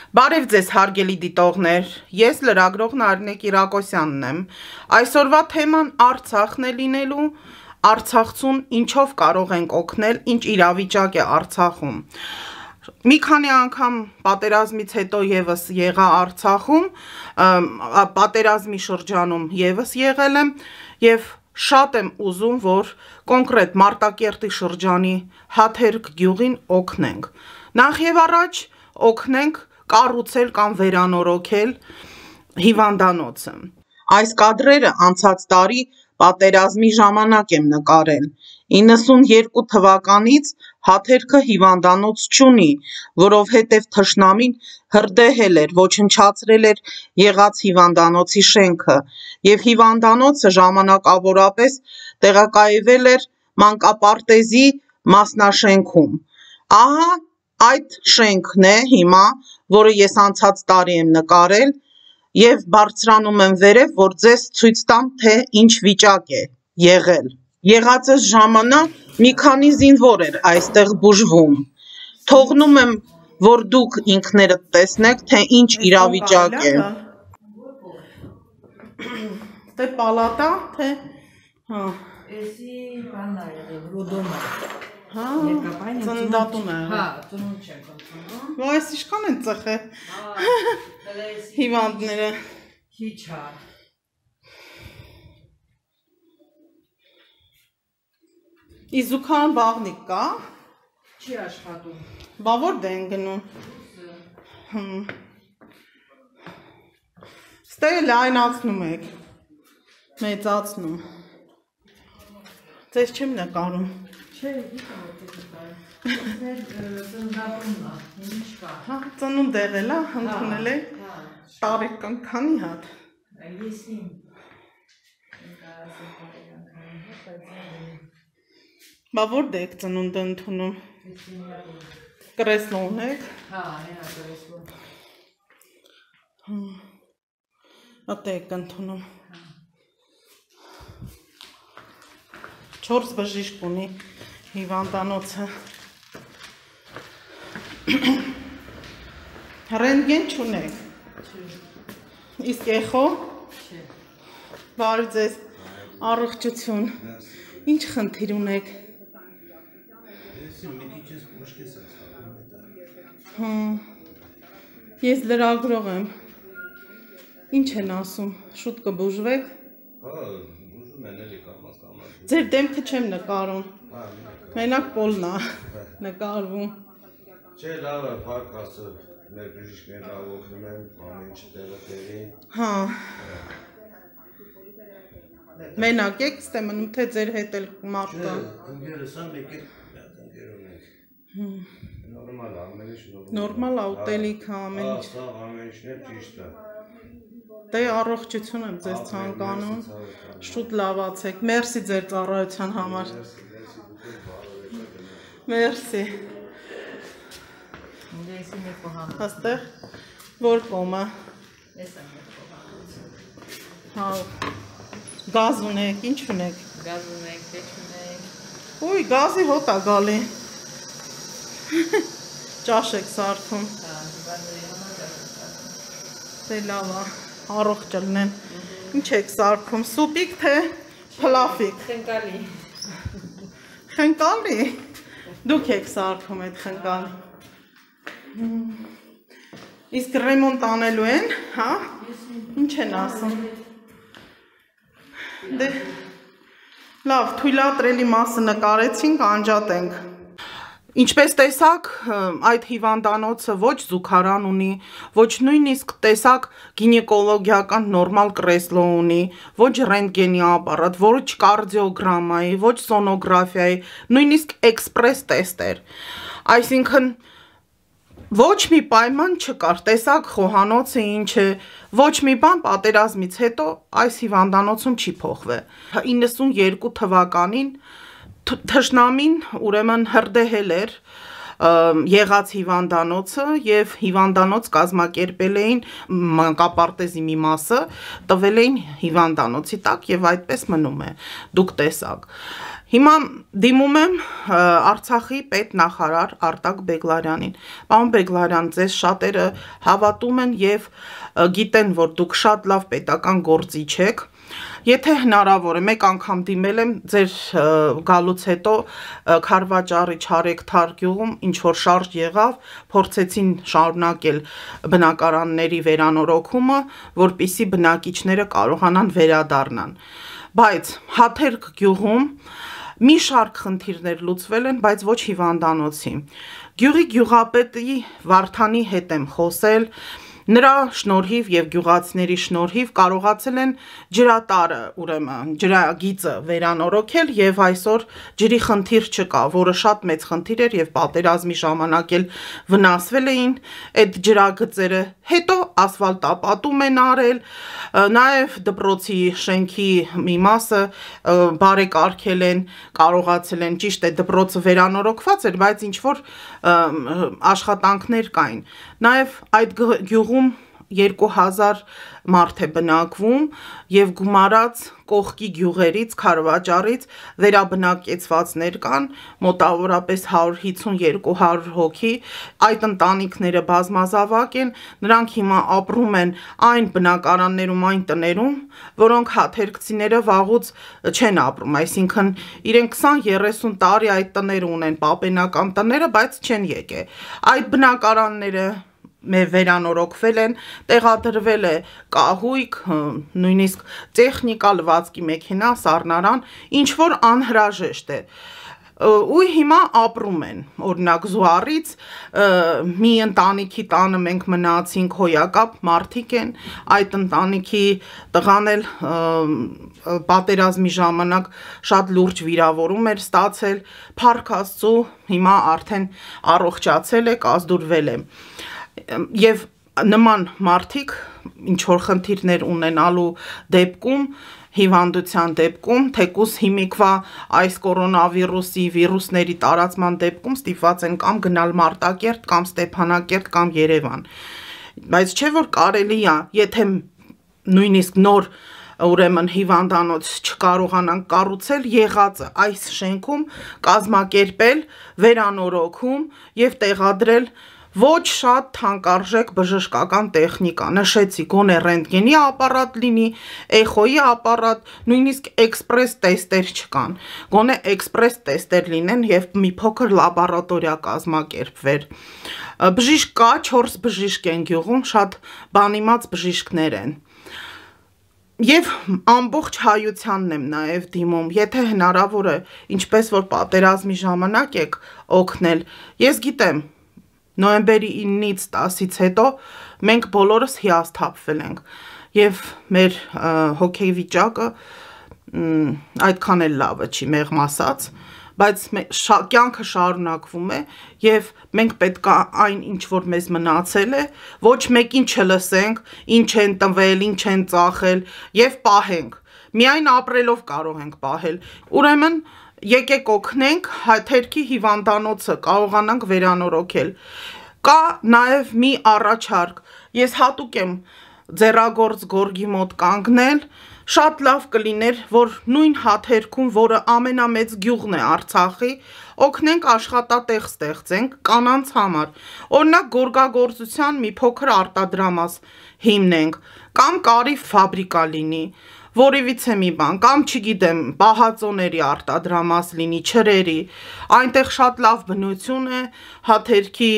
Բարև ձեզ հարգելի դիտողներ, ես լրագրող Նարինե Կիրակոսյանն եմ, այսօրվա թեման Արցախն է լինելու, Արցախցուն ինչով կարող ենք օգնել, ինչ իրավիճակ է Արցախում։ Մի քանի անգամ պատերազմից հետո եւս եղա Արցախում, պատերազմի շրջանում եւս եղել եմ եւ շատ եմ ուզում, որ կոնկրետ Մարտակերտի շրջանի Հաթերք գյուղին օգնենք։ Նախ եւ առաջ օգնենք կառուցել կամ վերանորոգել հիվանդանոցը։ Այս կադրերը անցած տարի պատերազմի ժամանակ եմ նկարել։ 92 թվականից Հաթերքը հիվանդանոց չունի, որովհետև թշնամին հրդեհել էր, ոչնչացրել էր եղած հիվանդանոցի շենքը, եւ հիվանդանոցը ժամանակավորապես տեղակայվել էր մանկապարտեզի մասնաշենքում։ Ահա այդ շենքն է հիմա, որը ես անցած տարի եմ նկարել, եւ բարձրանում եմ վերև, որ ձեզ ցույց տամ, թե ինչ վիճակ է եղել։ Եղածս ժամանակ մի քանի զինվոր էր այստեղ բուժվում։ Թողնում եմ, որ դուք ինքներդ տեսնեք, թե ինչ իրավիճակ է։ Թե պալատա, թե հա, էսի բանն է եղել, ռոդոմա։ Հա, ծննդատուն է։ Հա, ծնունդ չեն կոչվում։ Ո՞յ էս ինչքան են ծխել։ Հիվանդները։ Քիչ է։ Իզուքան բաղնիկ կա։ Չի աշխատում։ Բա որ դեն գնում։ Ստե լայնացնում եք։ Մեծացնում։ Ձեզ չեմ նկարում։ Չէ, գիտեմ որ ծննդատունն է, ինչ կա։ Հա, ծնունդ եղել է, ընդունել եք։ Տարեկան քանի հատ։ Եսին։ Բա որտե եք ծնունդը ընդունում։ Կրեսլո ունեք։ Հա, հենա կրեսլո։ Ատե եք ընդունում։ 4 բժիշկ ունի հիվանդանոցը։ Ռենտգեն չունեք։ Իսկ էխո։ Չէ։ Բարև ձեզ, առողջություն։ Ինչ խնդիր ունեք։ Ես լրագրող եմ։ Ինչ են ասում, շուտ կբուժվեք։ Հա, բուժում են էլի կամաց։ Ձեր դեմքը չեմ նկարում։ Մենակ պոլն է նկարվում։ Չէ, լավ է, փառք Աստծո, մեր բժիշկները լավ օգնում են, ամեն ինչ տեղը տեղին։ Հա։ Մենակ եք, ստե մնում թե ձեր հետ էլ մարդ կա։ Ընկերս ա մեկ է, ընկեր ունենք։ Նորմալ է, ամեն ինչ նորմալ։ Նորմալ է, ուտելիք է, ամեն ինչ։ Հա, ամեն ինչն էլ ճիշտ է։ Դե առողջություն եմ ձեզ ցանկանում։ Շուտ լավացեք։ Մերսի ձեր ծառայության համար։ Մերսի։ Եսի մի կողան։ Աստեղ որ կոմը։ Ես եմ մի կողան։ Հա։ Գազ ունեք, ինչ ունեք։ Գազ ունենք, թե չունենք։ Ուй, գազի հոտ է գալի։ Ճաշ եք սարքում։ Հա, բանների համար ճաշ։ Դե լավ է, առողջ ելնեն։ Ինչ եք սարքում, սուպիկ թե փլաֆիկ։ Խնկալի։ Խնկալի։ Դուք եք սարքում այդ խնկալի։ Իսկ ռեմոնտ անելու են, հա։ Ինչ են ասում։ Դե լավ, թույլատրելի մասը նկարեցինք, անջատենք։ Ինչպես տեսակ, այդ հիվանդանոցը ոչ զուգարան ունի, ոչ նույնիսկ տեսակ գինեկոլոգիական նորմալ կրեսլո ունի, ոչ ռենտգենի ապարատ, ոչ կարդիոգրամայի, ոչ սոնոգրաֆիայի, նույնիսկ էքսպրես տեստեր։ Այսինքն ոչ մի պայման չկար, տեսակ խոհանոցը ինչ է, ոչ մի բան պատերազմից հետո այս հիվանդանոցում չի փոխվել։ 92 թվականին թշնամին ուրեմն հրդեհել էր եղած հիվանդանոցը եւ հիվանդանոց կազմակերպել էին մանկապարտեզի մի մասը, տվել էին հիվանդանոցի տակ եւ այդպես մնում է։ Դուք տեսակ։ Հիմա դիմում եմ Արցախի պետնախարար Արտակ Բեգլարյանին։ Պարոն Բեգլարյան, ձեզ շատերը հավատում են եւ գիտեն, որ դուք շատ լավ պետական գործիչ եք։ Եթե հնարավոր է, մեկ անգամ դիմել եմ ձեր գալուց հետո Քարվաճարի Չարեկթար գյուղում ինչ որ շարժ եղավ, փորձեցին շարունակել բնակարանների վերանորոգումը, որպիսի բնակիչները կարողանան վերադառնան։ Բայց Հաթերք գյուղում մի շարք խնդիրներ լուծվել են, բայց ոչ հիվանդանոցի։ Գյուղի գյուղապետի Վարդանի հետ եմ խոսել, նրա շնորհիվ եւ գյուղացիների շնորհիվ կարողացել են ջրատարը, ուրեմն ջրագիծը վերանորոգել եւ այսօր ջրի խնդիր չկա, որը շատ մեծ խնդիր էր եւ պատերազմի ժամանակ էլ վնասվել էին այդ ջրագծերը։ Հետո ասֆալտապատում են արել, նաեւ դպրոցի շենքի մի մասը բարեկարգել են, կարողացել են, ճիշտ է, դպրոցը վերանորոգված էր, բայց ինչ որ աշխատանքներ կային։ Նաեւ այդ գյուղում 2000 մարդ է բնակվում եւ գումարած կողքի գյուղերից, Քարվաճարից վերաբնակեցվածներ կան, մոտավորապես 150-200 հոգի, այդ ընտանիքները բազմազավակ են, նրանք հիմա ապրում են այն բնակարաններում, այն տներում, որոնք հաթերքցիները վաղուց չեն ապրում, այսինքն իրենք 20-30 տարի այդ տները ունեն, պապենական տները, բայց չեն եկել։ Այդ բնակարանները վերանորոգվել են, տեղադրվել է կահույք, նույնիսկ տեխնիկա, լվացքի մեքենա, սառնարան, ինչ որ անհրաժեշտ է։ Ու հիմա ապրում են, օրինակ Զուարից մի ընտանիքի տանը մենք մնացինք, հոյակապ մարդիկ են, այդ ընտանիքի տղան էլ պատերազմի ժամանակ շատ լուրջ վիրավորում էր ստացել, փառք Աստծո, հիմա արդեն առողջացել է, կազդուրվել է։ Եվ նման մարդիկ ինչ որ խնդիրներ ունենալու դեպքում, հիվանդության դեպքում, թեկուզ հիմիկվա այս կորոնավիրուսի վիրուսների տարածման դեպքում ստիպված են կամ գնալ Մարտակերտ, կամ Ստեփանակերտ, կամ Երևան։ Բայց չէ որ կարելի է, եթե նույնիսկ նոր ուրեմն հիվանդանոց չկարողանանք կառուցել, եղածը այս շենքում կազմակերպել, վերանորոգում եւ տեղադրել ոչ շատ թանկարժեք բժշկական տեխնիկա, նշեցի, գոնե ռենտգենի ապարատ լինի, էխոյի ապարատ, նույնիսկ էքսպրես տեստեր չկան, գոնե էքսպրես տեստեր լինեն եւ մի փոքր լաբորատորիա կազմակերպվեր։ Բժիշկ կա, 4 բժիշկ են գյուղում, շատ բանիմաց բժիշկներ են։ Եվ ամբողջ հայությանն եմ նաև դիմում, եթե հնարավոր է, ինչպես որ պատերազմի ժամանակ եք օգնել, ես գիտեմ, նոյեմբերի 9-ից 10-ից հետո մենք բոլորս հիասթափվել ենք եւ մեր հոգեվիճակը այդքան էլ լավը չի, մեղմ ասած, բայց կյանքը շարունակվում է եւ մենք պետք է այն ինչ որ մեզ մնացել է, ոչ մեկին չլսենք, ինչ են տվել, ինչ են ծախել եւ պահենք։ Միայն ապրելով կարող ենք պահել։ Ուրեմն եկեք օգնենք Հաթերքի հիվանդանոցը կարողանանք վերանորոգել։ Կա նաև մի առաջարկ, ես հատուկ եմ ձեռագործ գորգի մոտ կանգնել, շատ լավ կլիներ, որ նույն Հաթերքում, որը ամենամեծ գյուղն է Արցախի, օգնենք աշխատատեղ ստեղծենք կանանց համար, օրինակ գորգագործության մի փոքր արտադրամաս հիմնենք, կամ կարի ֆաբրիկա լինի, որևիցե մի բան, կամ չգիտեմ, պահածոների արտադրամաս լինի, չրերի, այնտեղ շատ լավ բնություն է, Հաթերքի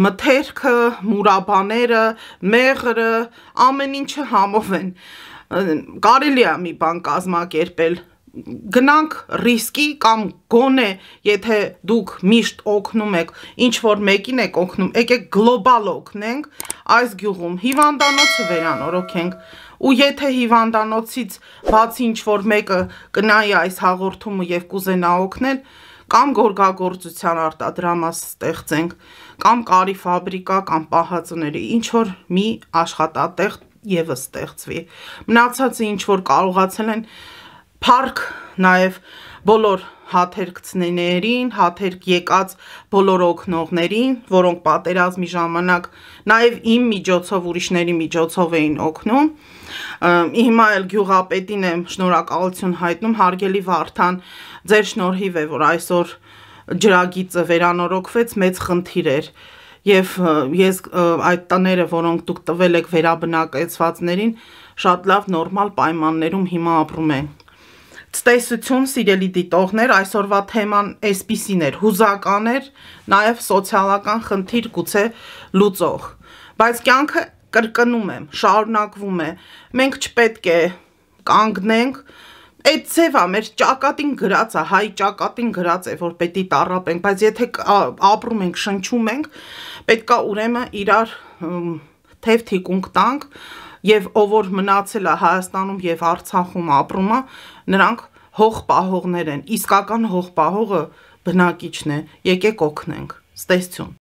մթերքը, մուրաբաները, մեղրը, ամեն ինչը համով են, կարելի է մի բան կազմակերպել, գնանք ռիսկի կամ գոնե, եթե դուք միշտ օգնում եք, ինչ որ մեկին եք օգնում, եկեք գլոբալ օգնենք, այս գյուղում հիվանդանոցը վերանորոգենք, ու եթե հիվանդանոցից բացի ինչ որ մեկը կնայի այս հաղորդումը եւ կուզենա օգնել, կամ գորգագործության արտադրամաս ստեղծենք, կամ կարի ֆաբրիկա, կամ պահածոների, ինչ որ մի աշխատատեղ եւս ստեղծվի։ Մնացածը ինչ որ կարողացել են, փառք նաեւ բոլոր հաթերքցիներին, հաթերք եկած բոլոր օգնողներին, որոնք պատերազմի ժամանակ նաև իմ միջոցով, ուրիշների միջոցով էին օգնում։ Հիմա էլ գյուղապետին եմ շնորհակալություն հայտնում, հարգելի Վարդան, ձեր շնորհիվ է, որ այսօր ջրագիծը վերանորոգվեց, մեծ խնդիր էր։ Եվ ես այդ տները, որոնք դուք տվել եք վերաբնակեցվածներին, շատ լավ նորմալ պայմաններում հիմա ապրում են։ Ցտեսություն, սիրելի դիտողներ, այսօրվա թեման այսպիսին էր, հուզական էր, նաև սոցիալական խնդիր գուցե լուծող, բայց կյանքը կրկնում եմ, շարունակվում է, մենք չպետք է կանգնենք, այդ ձևա մեր ճակատին գրած է, հայ ճակատին գրած է, որ պետք է տառապենք, բայց եթե ապրում ենք, շնչում ենք, պետք է ուրեմն իրար թև թիկունք տանք, եւ ով որ մնացել է Հայաստանում եւ Արցախում ապրում է, նրանք հող պահողներ են, իսկական հող պահողը բնակիչն է, եկեք օգնենք, ցտեսություն։